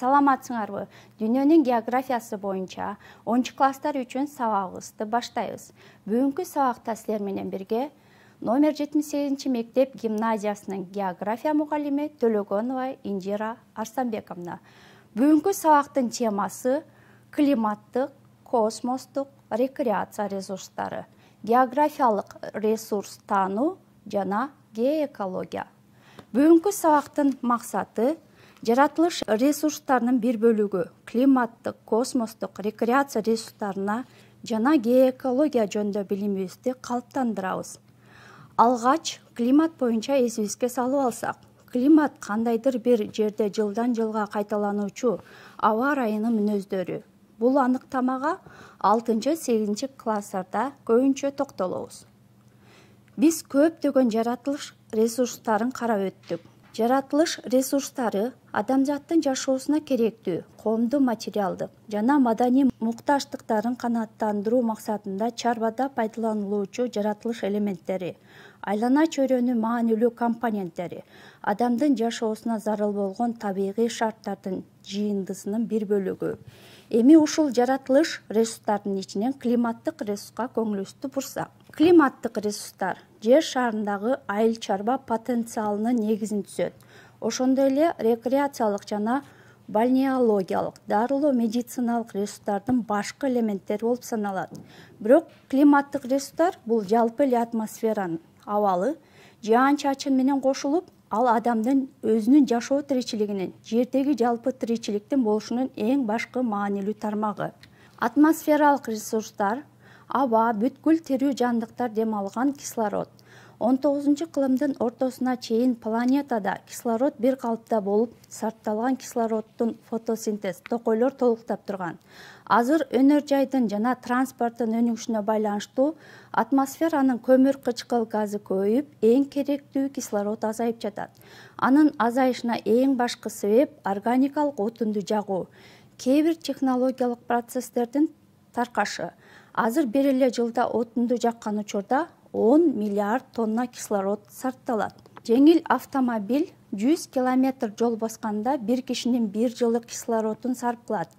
Саламатсыңарбы? Дүйнөнүн географиясы боюнча 10 класстар үчүн сабагыбызды баштайбыз. Бүгүнкү сабакта силер менен бирге номер 78 мектеп гимназиясынын география мугалими Төлөгөнова Инжира Арстанбековна. Бүгүнкү сабактын темасы климаттык, космостук, рекреация ресурстары, географиялык ресурс таануу жана геоэкология. Бүгүнкү сабактын максаты жаратылыш ресурстарынын бир бөлүгү климаттык, космостук, рекреация ресурстарына жана геоэкология жөнүндө билимибизди калыптандырабыз. Алгач климат боюнча эсибизге салып алсак, климат кандайдыр бир жерде жылдан жылга кайталануучу аба ырайынын мүнөздөрү. Бул аныктамага 6-8 класстарда көбүнчө токтолобуз. Биз көптөгөн жаратылыш ресурстарын карап өттүк. Жаратылыш ресурстары адамзаттын жашоосуна керектүү коомдук материалдык жана маданий муктаждыктарын канааттандыруу максатында чарбада пайдаланылуучу жаратылыш элементтери, айлана чөйрөнүн маанилүү компоненттери, адамдын жашоосуна зарыл болгон табигый шарттардын жыйындысынын бир бөлүгү. Эми ушул жаратылыш ресурстарынын ичинен климаттык ресурска көңүлүбүздү бурсак. Климаттык ресурстар жер шарындагы айыл чарба потенциалынын негизин түзөт. Ошондой эле рекреациялык жана бальнеологиялык, дарылоо медициналык ресурстардын башкы элементтери болуп саналат. Бирок климаттык ресурстар бул жалпы эле атмосферанын абалы, жаан-чачын менен кошулуп, ал адамдын өзүнүн жашоо тиричилигинин, жердеги жалпы тиричиликтин болушунун эң башкы маанилүү тармагы. Атмосфералык ресурстар аба, бүткүл тирүү жандыктар дем алган кислород. 19-кылымдын ортосуна чейин планетада кислород бир калыпта болуп, сарпталган кислороддун фотосинтез токойлор толуктап турган. Азыр өнөр жайдын жана транспорттун өнүгүшүнө байланыштуу атмосферанын көмүр кычкыл газы көбөйүп, эң керектүү кислород азайып жатат. Анын азайышына эң башкы себеп органикалык отунду жагуу, кээ бир технологиялык процесстердин таркашы. Азыр бир эле жылда отунду жаккан учурда 10 миллиард тонна кислород сарпталат. Жеңил автомобиль 100 километр жол басканда бир кишинин бир жылдык кислородун сарп кылат.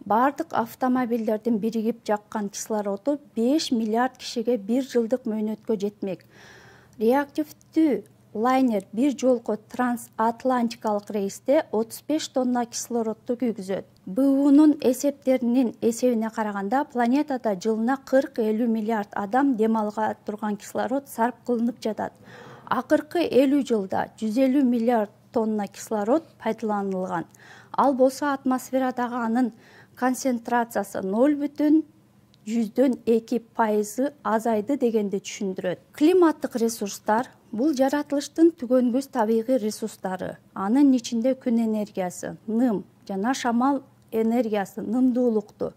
Бардык автомобилдердин биригип жаккан кислороду 5 миллиард кишиге бир жылдык мөөнөткө жетмек. Реактивдүү лайнер бир жолку трансатлантикалык рейсте 35 тонна кислородду күйгүзөт. БУнун эсептеринин эсебине караганда планетада жылына 40-50 миллиард адам дем ала турган кислород сарп кылынып жатат. Акыркы 50 жылда 150 миллиард тонна кислород пайдаланылган. Ал болсо атмосферадагы анын концентрациясы 0,2% азайды дегенди түшүндүрөт. Климаттык ресурстар бул жаратылыштын түгөнгүс табигый ресурстары. Анын ичинде күн энергиясы, ным жана шамал энергиясы, нымдуулукту,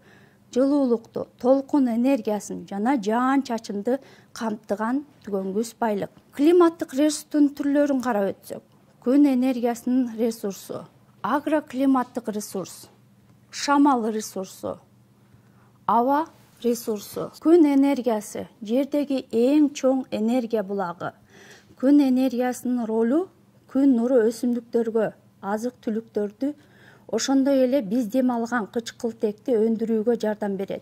жылуулукту, толкун энергиясын жана жаан-чачынды камтыган түгөнгүс байлык. Климаттык ресурстун түрлөрүн карап өтсөк, күн энергиясынын ресурсу, агроклиматтык ресурс, шамал ресурсу, аба ресурсу. Күн энергиясы жердеги эң чоң энергия булагы. Күн энергиясынын ролу күн нуру өсүмдүктөргө азык-түлүктөрдү, ошондой эле биз дем алган кычкылтекти өндүрүүгө жардам берет.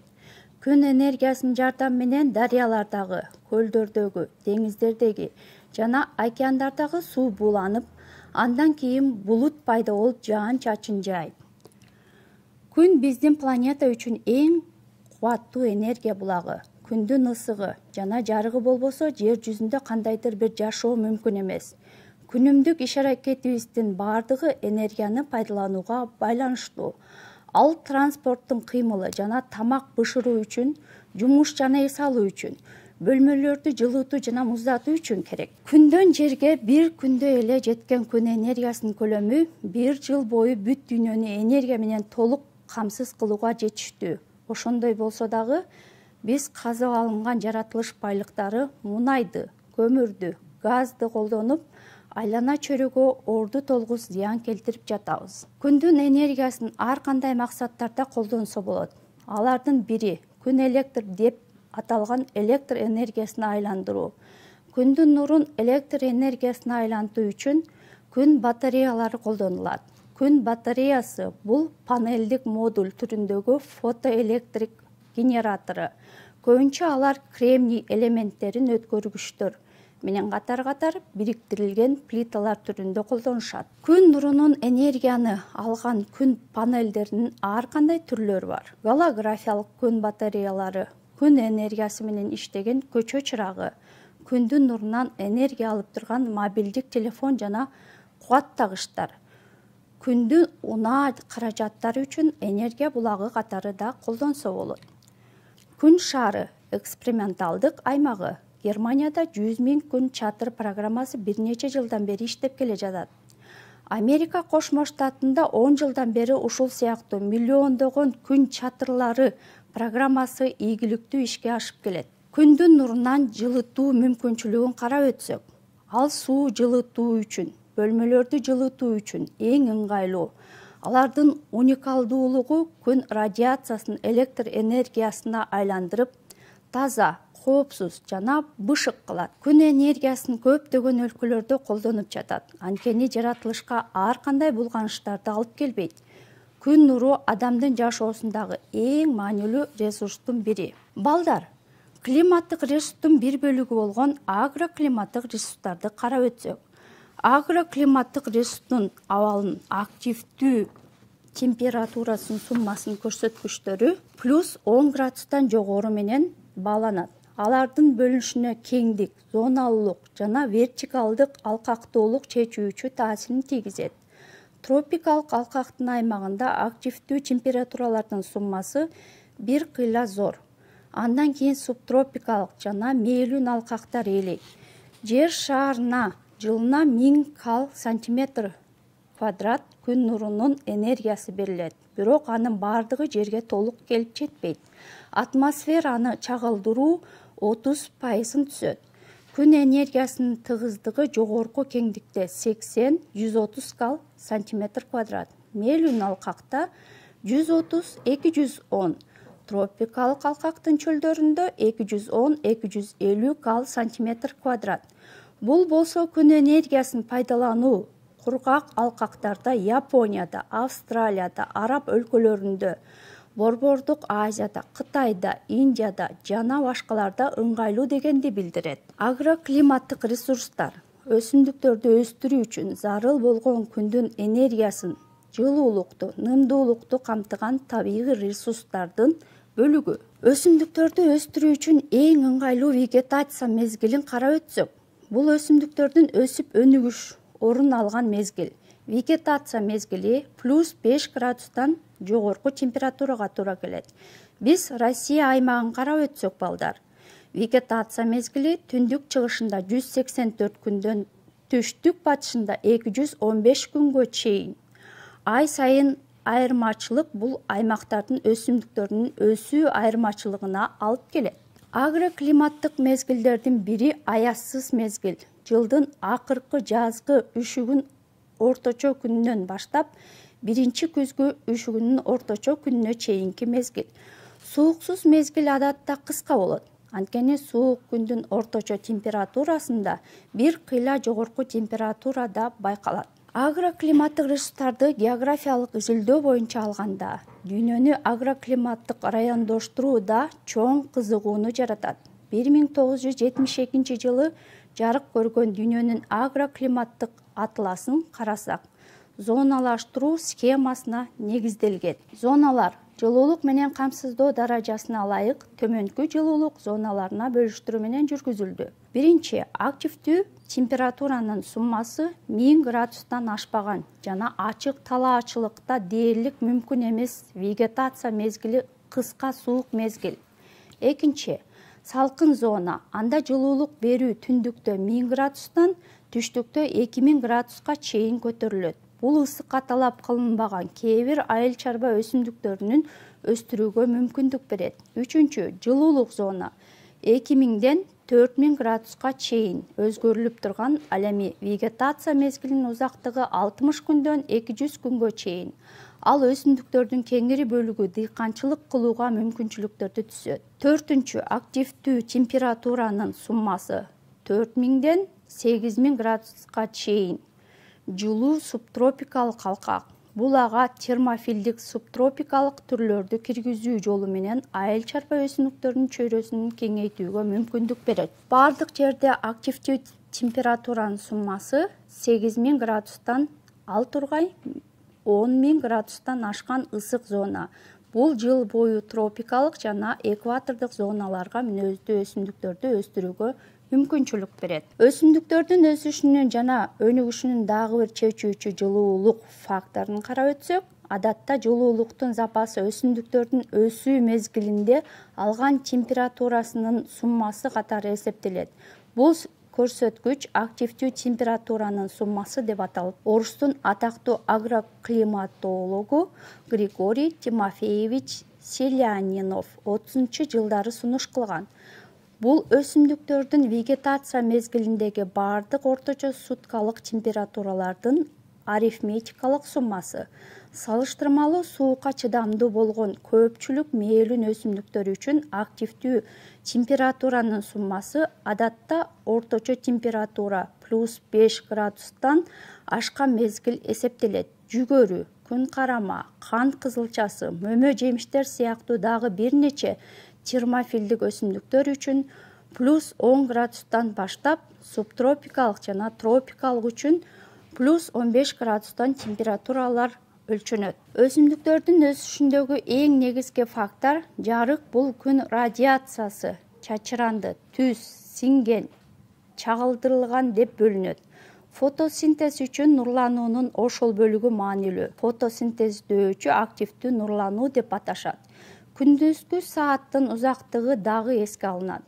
Күн энергиясынын жардамы менен дарыялардагы, көлдөрдөгү, деңиздердеги жана океандардагы суу бууланып, андан кийин булут пайда болуп жаан-чачын жаайт. Күн биздин планета үчүн эң кубаттуу энергия булагы. Күндүн ысыгы жана жарыгы болбосо жер жүзүндө кандайдыр бир жашоо мүмкүн эмес. Күнүмдүк иш-аракетибиздин бардыгы энергияны пайдаланууга байланыштуу. Ал транспорттун кыймылы жана тамак бышыруу үчүн, жумуш жана эс алуу үчүн, бөлмөлөрдү жылытуу жана муздатуу үчүн керек. Күндөн жерге бир күндө эле жеткен күн энергиясынын көлөмү бир жыл бою бүт дүйнөнү энергия менен толук камсыз кылууга жетиштүү. Ошондой болсо дагы биз казып алынган жаратылыш байлыктары мунайды, көмүрдү, газды колдонуп, айлана чөйрөгө орду толгус зыян келтирип жатабыз. Күндүн энергиясын ар кандай максаттарда колдонсо болот. Алардын бири күн электр деп аталган электр энергиясына айландыруу. Күндүн нурун электр энергиясына айлантуу үчүн күн батареялары колдонулат. Күн батареясы бул панелдик модуль түрүндөгү фотоэлектрик генератору. Көбүнчө алар кремний элементтерин өткөргүчтөр менен катар-катар бириктирилген плиталар түрүндө колдонушат. Күн нурунун энергияны алган күн панелдеринин ар кандай түрлөрү бар. Голографиялык күн батареялары, күн энергиясы менен иштеген көчө чырагы, күндүн нурунан энергия алып турган мобилдик телефон жана кубаттагычтар, күндүн унаа каражаттары үчүн энергия булагы катары да колдонсо болот. Күн шары эксперименталдык аймагы. Германияда 100 000 күн чатыр программасы бир нече жылдан бери иштеп келе жатат. Америка Кошмо Штатында 10 жылдан бери ушул сыяктуу миллиондогон күн чатырлары программасы ийгиликтүү ишке ашып келет. Күндүн нурунан жылытуу мүмкүнчүлүгүн карап өтсөк, ал суу жылытуу үчүн, бөлмөлөрдү жылытуу үчүн эң ыңгайлуу. Алардын уникалдуулугу күн радиациясын электр энергиясына айландырып, таза, коопсуз жана бышык кылат. Күн энергиясын көптөгөн өлкөлөрдө колдонуп жатат. Анткени жаратылышка ар кандай булганыштарды алып келбейт. Күн нуру адамдын жашоосундагы эң маанилүү ресурстун бири. Балдар, климаттык ресурстун бир бөлүгү болгон агроклиматтык ресурстарды карап өтсөк, агроклиматтык ресурстун абалынын активдүү температурасынын суммасынын көрсөткүчтөрү +10 градустан жогору менен бааланат. Алардын бөлүнүшүнө кеңдик, зоналуулук жана вертикалдык алкактуулук чечүүчү таасирин тийгизет. Тропикалык алкактын аймагында активдүү температуралардын суммасы бир кыйла зор. Андан кийин субтропикалык жана мээлүүн алкактар ээлейт. Жер шарына жылына 1000 кал сантиметр квадрат күн нурунун энергиясы берилет. Бирок анын бардыгы жерге толук келип жетпейт. Атмосфераны чагылдыруу 30% түзөт. Күн энергиясынын тыгыздыгы жогорку кеңдикте 80-130 кал сантиметр квадрат. Мээлүүн алкакта 130-210, тропикалык алкактын чөлдөрүндө 210-250 кал сантиметр квадрат. Бул болсо күн энергиясын пайдалануу кургак алкактарда Японияда, Австралияда, араб өлкөлөрүндө, Борбордук Азияда, Кытайда, Индияда жана башкаларда ыңгайлуу дегенди билдирет. Агроклиматтык ресурстар өсүмдүктөрдү өстүрүү үчүн зарыл болгон күндүн энергиясын, жылуулукту, нымдуулукту камтыган табигый ресурстардын бөлүгү. Өсүмдүктөрдү өстүрүү үчүн эң ыңгайлуу вегетация мезгилин карап өтсөк, бул өсүмдүктөрдүн өсүп өнүгүш орун алган мезгил. Вегетация мезгили +5 градустан жогорку температурага туура келет. Биз Россия аймагын карап өтсөк, балдар, вегетация мезгили түндүк чыгышында 184 күндөн түштүк батышында 215 күнгө чейин. Ай сайын айырмачылык бул аймактардын өсүмдүктөрүнүн өсүү айырмачылыгына алып келет. Агроклиматтык мезгилдердин бири аязсыз мезгил. Жылдын акыркы жазгы үшүгүн орточо күнүнөн баштап биринчи күзгү үшүгүнүн орточо күнүнө чейинки мезгил. Сууксуз мезгил адатта кыска болот. Анткени суук күндүн орточо температурасында бир кыйла жогорку температурада байкалат. Агроклиматтык ресурстарды географиялык изилдөө боюнча алганда, дүйнөнү агроклиматтык райондоштуруу да чоң кызыгууну жаратат. 1972 жылы жарык көргөн дүйнөнүн агроклиматтык атласын карасак, зоналаштыруу схемасына негизделген. Зоналар жылуулук менен камсыздоо даражасына ылайык төмөнкү жылуулук зоналарына бөлүштүрүү менен жүргүзүлдү. Биринчи, активдүү температуранын суммасы 1000 градустан ашпаган жана ачык талаачылыкта дээрлик мүмкүн эмес вегетация мезгили кыска суук мезгил. Экинчи, салкын зона. Анда жылуулук берүү түндүктө 1000 градустан түштүктө 2000 градуска чейин көтөрүлөт. Бул ысыкка талап кылынбаган кээ бир айыл чарба өсүмдүктөрүнүн өстүрүүгө мүмкүндүк берет. Үчүнчү, жылуулук зона. 2000ден 4000 градуска чейин өзгөрүлүп турган, ал эми вегетация мезгилинин узактыгы 60 күндөн 200 күнгө чейин. Ал өсүмдүктөрдүн кеңири бөлүгү дыйканчылык кылууга мүмкүнчүлүктөрдү түзөт. Төртүнчү, активдүү температуранын суммасы 4000ден 8000 градуска чейин. Жылуу субтропикалык алкак. Бул ага термофилдик субтропикалык түрлөрдү киргизүү жолу менен айыл чарба өсүмдүктөрдүн чөйрөсүн кеңейтүүгө мүмкүндүк берет. Бардык жерде активдүү температуранын суммасы 8000 градустан ал тургай 10000 градустан ашкан ысык зона. Бул жыл бою тропикалык жана экватордук зоналарга мүнөздүү өсүмдүктөрдү өстүрүүгө мүмкүнчүлүк берет. Өсүмдүктөрдүн өсүшүнүн жана өнүгүшүнүн дагы бир чечүүчү жылуулук факторун карап өтсөк, адатта жылуулуктун запасы өсүмдүктөрдүн өсүү мезгилинде алган температурасынын суммасы катары эсептелет. Бул көрсөткүч активдүү температуранын суммасы деп аталып, орустун атактуу агроклиматологу Григорий Тимофеевич Селянинов 30-жылдары сунуш кылган. Бул өсүмдүктөрдүн вегетация мезгилиндеги бардык орточо суткалык температуралардын арифметикалык суммасы. Салыштырмалуу суукка чыдамдуу болгон көпчүлүк мээлүүн өсүмдүктөр үчүн активдүү температуранын суммасы адатта орточо температура +5 градустан ашкан мезгил эсептелет. Жүгөрү, күн карама, кант кызылчасы, мөмө жемиштер сыяктуу дагы бир нече термофилдик өсүмдүктөр үчүн +10 градустан баштап, субтропикалык жана тропикалык үчүн +15 градустан температуралар өлчөнөт. Өсүмдүктөрдүн өсүшүндөгү эң негизги фактор жарык. Бул күн радиациясы чачыранды, түз, сиңген, чагылдырылган деп бөлүнөт. Фотосинтез үчүн нурлануунун ошол бөлүгү маанилүү. Фотосинтездөөчү активдүү нурлануу деп аташат. Күндүзгү сааттын узактыгы дагы эске алынат.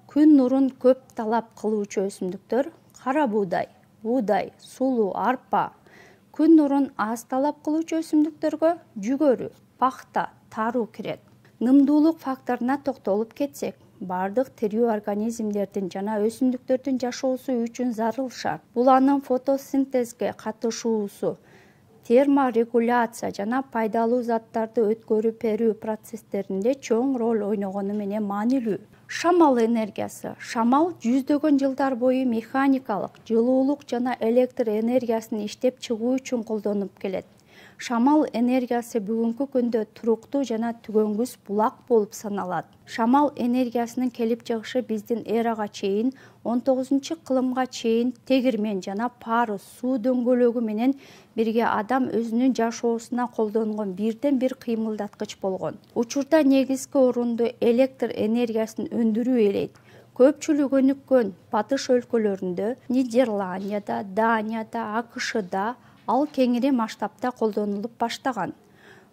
Күн нурун көп талап кылуучу өсүмдүктөр кара буудай, буудай, сулуу, арпа. Күн нурун аз талап кылуучу өсүмдүктөргө жүгөрү, пахта, таруу кирет. Нымдуулук факторуна токтолуп кетсек, бардык тирүү организмдердин жана өсүмдүктөрдүн жашоосу үчүн зарыл шарт. Бул анын фотосинтезге катышуусу, терморегуляция жана пайдалуу заттарды өткөрүп берүү процесстеринде чоң роль ойногону менен маанилүү. Шамал энергиясы. Шамал жүздөгөн жылдар бою механикалык, жылуулук жана электр энергиясын иштеп чыгуу үчүн колдонулуп келет. Шамал энергиясы бүгүнкү күндө туруктуу жана түгөнгүс булак болуп саналат. Шамал энергиясынын келип чыгышы биздин эрага чейин 19-кылымга чейин тегирмен жана парус суу дөңгөлөгү менен бирге адам өзүнүн жашоосуна колдонгон бирден бир кыймылдаткыч болгон. Учурда негизги орунду электр энергиясын өндүрүү ээлейт. Көпчүлүк өнүккөн батыш өлкөлөрүндө, Нидерландияда, Данияда, АКШда ал кеңири масштабта колдонулуп баштаган.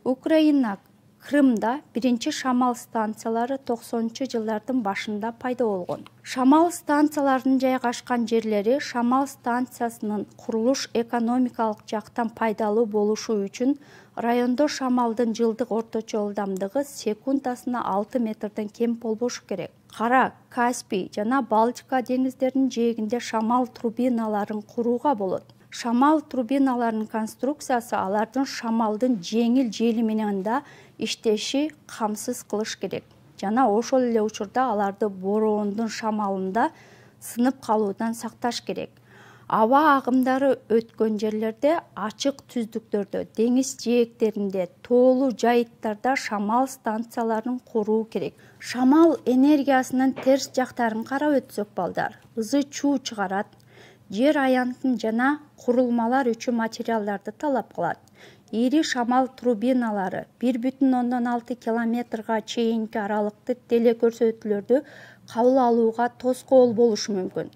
Украина, Крымда биринчи шамал станциялары 90-жылдардын башында пайда болгон. Шамал станцияларынын жайгашкан жерлери шамал станциясынын курулуш экономикалык жактан пайдалуу болушу үчүн райондо шамалдын жылдык орточо ылдамдыгы секундасына 6 метрден кем болбошу керек. Кара, Каспий жана Балтика деңиздеринин жээгинде шамал турбиналарын курууга болот. Шамал турбиналарынын конструкциясы алардын шамалдын жеңил жели менен да иштеши камсыз кылыш керек жана ошол эле учурда аларды бороондун шамалында сынып калуудан сакташ керек. Аба агымдары өткөн жерлерде, ачык түздүктөрдө, деңиз жээктеринде, тоолуу жайыттарда шамал станцияларын куруу керек. Шамал энергиясынын терс жактарын карап өтсөк балдар, ызы чуу чыгарат, жер аянтын жана курулмалар үчүн материалдарды талап кылат. Ири шамал турбиналары 1,6 километрга чейинки аралыкты телекөрсөтүүлөрдү кабыл алууга тоскоол болушу мүмкүн.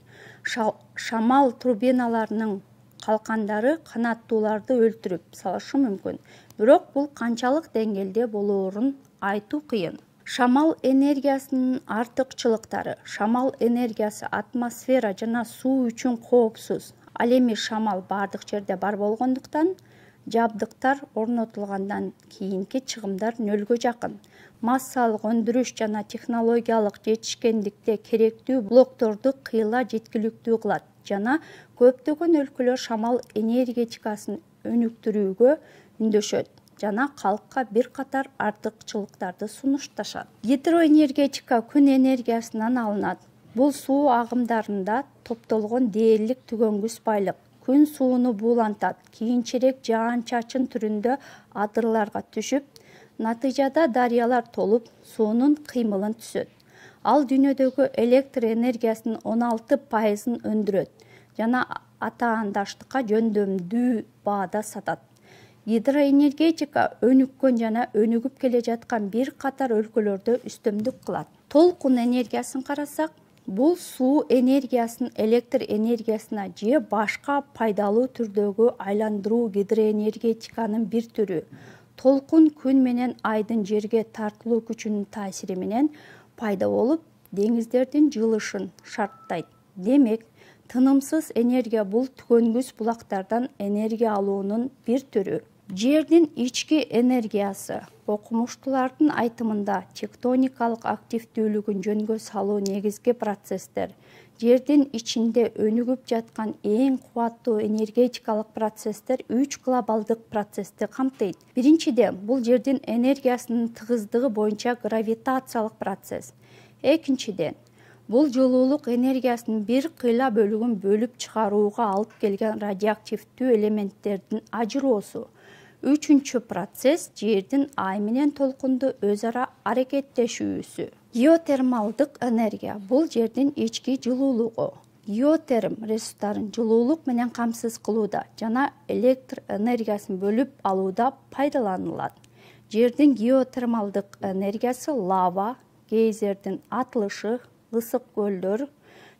Шамал турбиналарынын калкандары канаттууларды өлтүрүп салышы мүмкүн. Бирок бул канчалык деңгээлде болоорун айтуу кыйын. Шамал энергиясынын артыкчылыктары. Шамал энергиясы атмосфера жана суу үчүн коопсуз. Ал эми шамал бардык жерде бар болгондуктан жабдыктар орнотулгандан кийинки чыгымдар нөлгө жакын. Массалык өндүрүш жана технологиялык жетишкендикте керектүү блокторду кыйла жеткиликтүү кылат жана көптөгөн өлкөлөр шамал энергетикасын өнүктүрүүгө үндөшөт жана калкка бир катар артыкчылыктарды сунушташат. Гидроэнергетика күн энергиясынан алынат. Бул суу агымдарында топтолгон дээрлик түгөнгүс байлык. күн сууну буулантат, кийинчерээк жаан-чачын түрүндө адырларга түшүп, натыйжада дарыялар толуп, суунун кыймылын түзөт. Ал дүйнөдөгү электр энергиясынын 16% өндүрөт жана атаандаштыкка жөндөмдүү баада сатат. Гидроэнергетика өнүккөн жана өнүгүп келе жаткан бир катар өлкөлөрдө үстөмдүк кылат. Толкун энергиясын карасак, бул суу энергиясын электр энергиясына же башка пайдалуу түрдөгү айландыруу гидроэнергетиканын бир түрү. Толкун күн менен айдын жерге тартылуу күчүнүн таасири менен пайда болуп, деңиздердин жылышын шарттайт. Демек, тынымсыз энергия бул түгөнгүс булактардан энергия алуунун бир түрү. Жердин ички энергиясы окумуштуулардын айтымында тектоникалык активдүүлүгүн жөнгө салуу негизги процесстер. Жердин ичинде өнүгүп жаткан эң кубаттуу энергетикалык процесстер 3 глобалдык процессти камтыйт. Биринчиден, бул жердин энергиясынын тыгыздыгы боюнча гравитациялык процесс. Экинчиден, бул жылуулук энергиясынын бир кыйла бөлүгүн бөлүп чыгарууга алып келген радиоактивдүү элементтердин ажыроосу. Үчүнчү процесс жердин ай менен толкунду өз ара аракеттешүүсү. Геотермалдык энергия бул жердин ички жылуулугу. Геотерм ресурстарын жылуулук менен камсыз кылууда жана электр энергиясын бөлүп алууда пайдаланылат. Жердин геотермалдык энергиясы лава, гейзердин атылышы, ысык көлдөр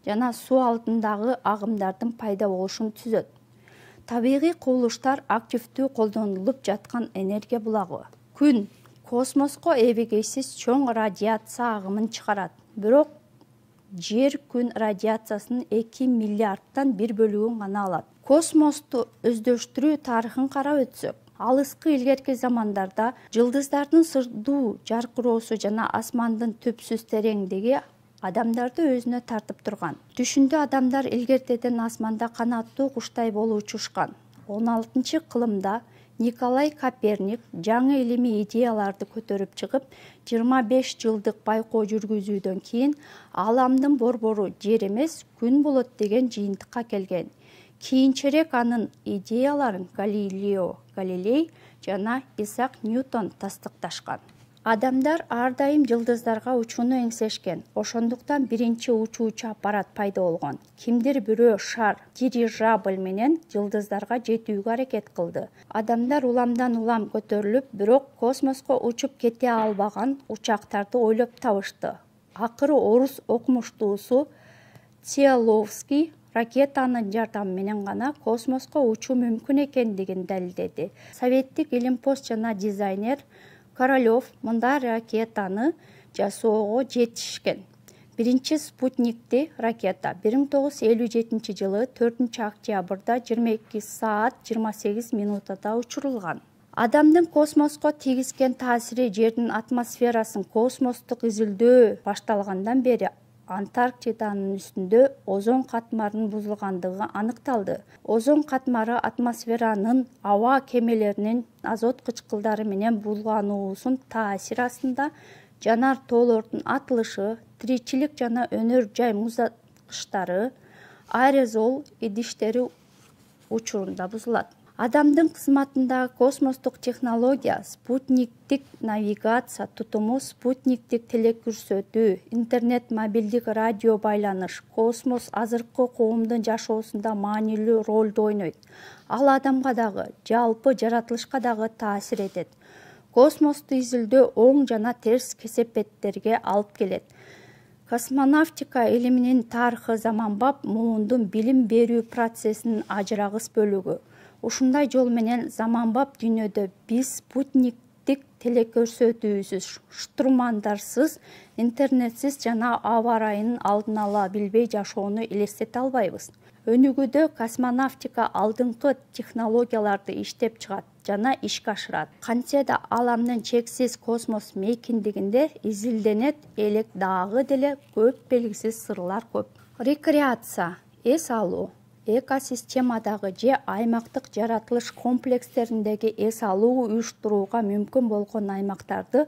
жана суу алтындагы агымдардын пайда болушун түзөт. Табигый кубулуштар активдүү колдонулуп жаткан энергия булагы. Күн космоско эбегейсиз чоң радиация агымын чыгарат. Бирок жер күн радиациясынын 2 миллиардтан 1 бөлүгүн гана алат. Космосту өздөштүрүү тарыхын карап өтсөк, алыскы илгерки замандарда жылдыздардын сырдуу жаркыроосу жана асмандын түпсүз тереңдиги адамдарды өзүнө тартып турган. Түшүндө адамдар илгертеден асманда канаттуу куштай болуп учушкан. 16-кылымда Николай Коперник жаңы илимий идеяларды көтөрүп чыгып, 25 жылдык байкоо жүргүзүүдөн кийин аламдын борбору жер эмес, күн болот деген жыйынтыкка келген. Кийинчерээк анын идеяларын Галилео Галилей жана Исаак Ньютон тастыкташкан. Адамдар ар дайым жылдыздарга учууну эңсешкен. Ошондуктан биринчи учуучу аппарат пайда болгон. Кимдир бирөө шар дирижабль менен жылдыздарга жетүүгө аракет кылды. Адамдар уламдан улам көтөрүлүп, бирок космоско учуп кете албаган учактарды ойлоп табышты. Акыры орус окумуштуусу Циолковский ракетанын жардамы менен гана космоско учуу мүмкүн экендигин далилдеди. Советтик илимпоз жана дизайнер Королёв мындай ракетаны жасоого жетишкен. Биринчи спутникти ракета 1957 жылы 4-октябрда 22 саат 28 минутада учурулган. Адамдын космоско тийгизген таасири жердин атмосферасын космостук изилдөө башталгандан бери Антарктиданын үстүндө озон катмарынын бузулгандыгы аныкталды. Озон катмары атмосферанын аба кемелеринин азот кычкылдары менен булгануусунун таасири астында жанар тоолордун атылышы, тиричилик жана өнөр жай муздаткычтары, аэрозол идиштери учурунда бузулат. Адамдын кызматындагы космостук технология, спутниктик навигация тутуму, спутниктик телекөрсөтүү, интернет, мобилдик радио байланыш, космос азыркы коомдун жашоосунда маанилүү ролду ойнойт. Ал адамга дагы, жалпы жаратылышка дагы таасир этет. Космосту изилдөө оң жана терс кесепеттерге алып келет. Космонавтика илиминин тарыхы заманбап муундун билим берүү процессинин ажырагыс бөлүгү. Ушундай жол менен заманбап дүйнөдө биз спутниктик телекөрсөтүүсүз, штурмандарсыз, интернетсиз жана аба ырайынын алдын ала билбей жашоону элестете албайбыз. Өнүгүүдө космонавтика алдыңкы технологияларды иштеп чыгат жана ишке ашырат. Кантсе да аламдын чексиз космос мейкиндигинде изилденет элек дагы деле көп белгисиз сырлар көп. Рекреация, эс алуу. Экосистемадагы же аймактык жаратылыш комплекстериндеги эс алуу уюштурууга мүмкүн болгон аймактарды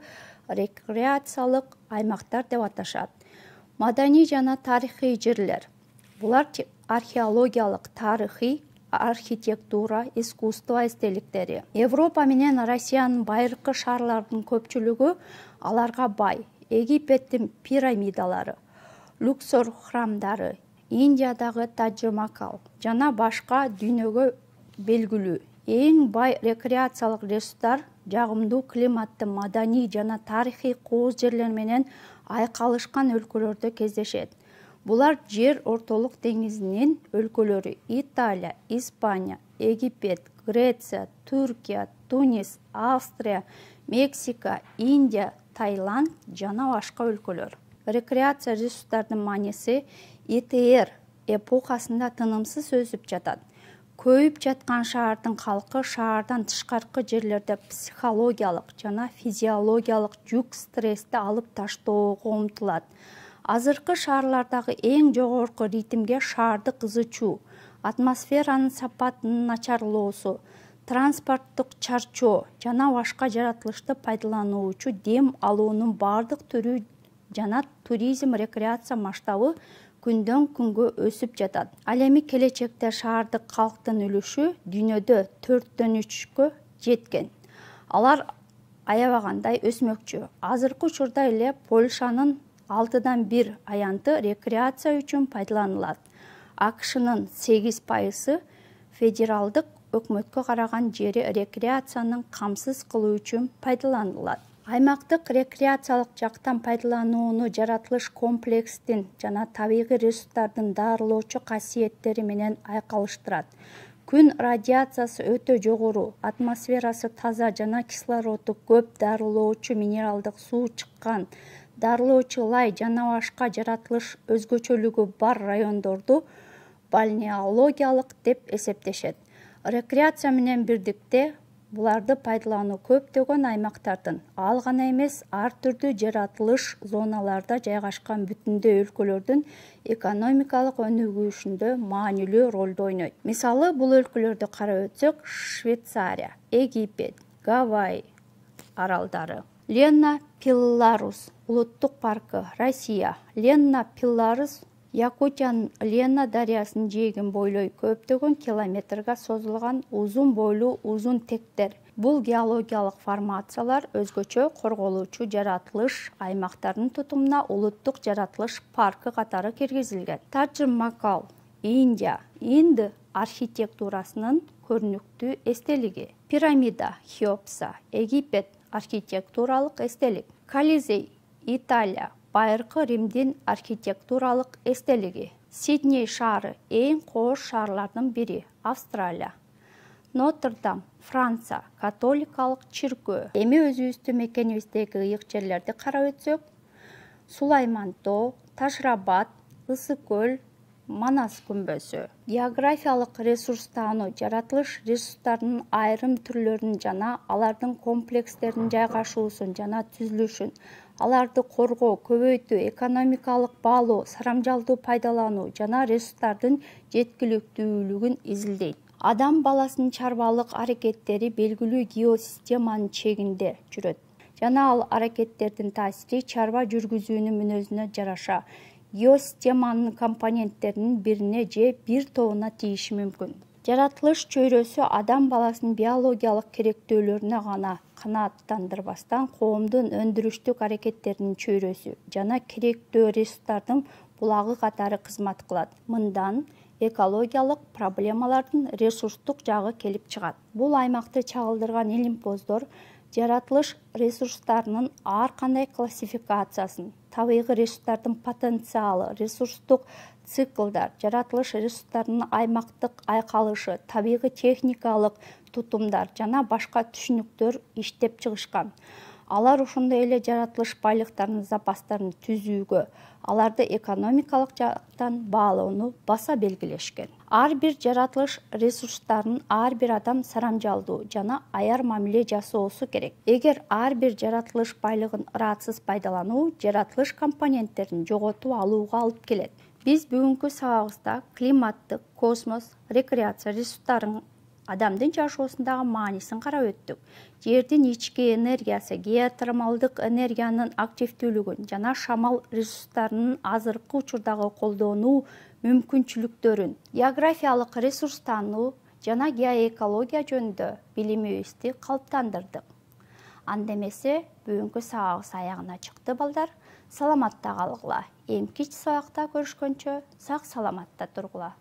рекреациялык аймактар деп аташат. Маданий жана тарыхый жерлер. Булар археологиялык, тарыхый, архитектура, искусство эстеликтери. Европа менен Россиянын байыркы шаарларынын көпчүлүгү аларга бай. Египеттин пирамидалары, Люксор храмдары, Индиядагы Тадж-Махал жана башка дүйнөгө белгилүү. Эң бай рекреациялык ресурстар жагымдуу климатты, маданий жана тарыхый кооз жерлер менен айкалышкан өлкөлөрдө кездешет. Булар жер ортолук деңизинин өлкөлөрү: Италия, Испания, Египет, Греция, Түркия, Тунис, Австрия, Мексика, Индия, Таиланд жана башка өлкөлөр. Рекреация ресурстардын мааниси ИТР эпохасында тынымсыз өсүп жатат. Көйүп жаткан шаардын калкы шаардан тышкаркы жерлерде психологиялык жана физиологиялык жүк, стрессти алып таштоого умтулат. Азыркы шаарлардагы эң жогорку ритмге шаарды кызычуу, атмосферанын сапатынын начарлоосу, транспорттук чарчоо жана башка жаратылышты пайдалануучу дем алуунун бардык түрү жана туризм рекреация масштабы күндөн күнгө өсүп жатат. Ал эми келечекте шаардык калктын үлүшү дүйнөдө 4/3 жеткен. Алар аябагандай өсмөкчү. Азыркы учурда эле Польшанын 6/1 аянты рекреация үчүн пайдаланылат. АКШнын 8% федералдык өкмөткө караган жери рекреацияны камсыз кылуу үчүн пайдаланылат. Аймактык рекреациялык жактан пайдаланууну жаратылыш комплекстин жана табигый ресурстардын дарылоочу касиеттери менен айкалыштырат. Күн радиациясы өтө жогору, атмосферасы таза жана кислороду көп, дарылоочу минералдык суу чыккан, дарылоочу лай жана башка жаратылыш өзгөчөлүгү бар райондорду балнеологиялык деп эсептешет. Рекреация менен бирдикте буларды пайдалануу көптөгөн аймактардын, ал гана эмес, ар түрдүү жаратылыш зоналарда жайгашкан бүтүндөй өлкөлөрдүн экономикалык өнүгүшүндө маанилүү ролду ойнойт. Мисалы, бул өлкөлөрдү карап өтсөк: Швейцария, Египет, Гавайи аралдары. Лена-Пелларус улуттук паркы, Россия. Лена-Пелларус Якутиянын Лена дарыясынын жээгин бойлой көптөгөн километрге созулган узун бойлуу узун тектер. Бул геологиялык формациялар өзгөчө корголуучу жаратылыш аймактарынын тутумуна улуттук жаратылыш паркы катары киргизилген. Тадж-Махал, Индия, Инд архитектурасынын көрүнүктүү эстелиги. Пирамида, Хеопса, Египет архитектуралык эстелик. Колизей, Италия, байыркы Римдин архитектуралык эстелиги. Сидней шаары эң кооз шаарлардын бири, Австралия. Нотр-Дам, Франция, католикалык чиркөө. Эми өзүбүздүн мекенибиздеги ыйык жерлерди карап өтсөк: Сулайман-Тоо, Ташрабат, Ысык көл, Манас күмбөзү. Географиялык ресурстануу жаратылыш ресурстарынын айрым түрлөрүн жана алардын комплекстеринин жайгашуусун жана түзүлүшүн, аларды коргоо, көбөйтүү, экономикалык баалоо, сарамжалдуу пайдалануу жана ресурстардын жеткиликтүүлүгүн изилдейт. Адам баласынын чарбалык аракеттери белгилүү геосистеманын чегинде жүрөт жана ал аракеттердин таасири чарба жүргүзүүнүн мүнөзүнө жараша геосистеманын компоненттеринин бирине же бир тобуна тийиши мүмкүн. Жаратылыш чөйрөсү адам баласынын биологиялык керектөөлөрүнө гана канааттандырбастан коомдун өндүрүштүк аракеттеринин чөйрөсү жана керектөө ресурстардын булагы катары кызмат кылат. Мындан экологиялык проблемалардын ресурстук жагы келип чыгат. Бул аймакты чагылдырган илимпоздор жаратылыш ресурстарынын ар кандай классификациясын, табигый ресурстардын потенциалы, ресурстук циклдар, жаратылыш ресурстарынын аймактык айкалышы, табигый техникалык тутумдар жана башка түшүнүктөр иштеп чыгышкан. Алар ошондой эле жаратылыш байлыктарынын запастарын түзүүгө, аларды экономикалык жактан баалоону баса белгилешкен. Ар бир жаратылыш ресурстарын ар бир адам сарамжалдуу жана аяр мамиле жасоосу керек. Эгер ар бир жаратылыш байлыгын ыраатсыз пайдалануу жаратылыш компоненттерин жоготуп алууга алып келет. Биз бүгүнкү сабагыбызда климаттык, космос, рекреация ресурстарынын адамдын жашоосундагы маанисин карап өттүк. Жердин ички энергиясы, геотермалдык энергиянын активдүүлүгүн жана шамал ресурстарынын азыркы учурдагы колдонуу мүмкүнчүлүктөрүн, географиялык ресурс таануу жана геоэкология жөнүндө билимибизди калыптандырдык. Анда эмесе бүгүнкү сабагыбыз аягына чыкты балдар. Саламатта калгыла. Эмки сабакта көрүшкөнчө сак саламатта тургула.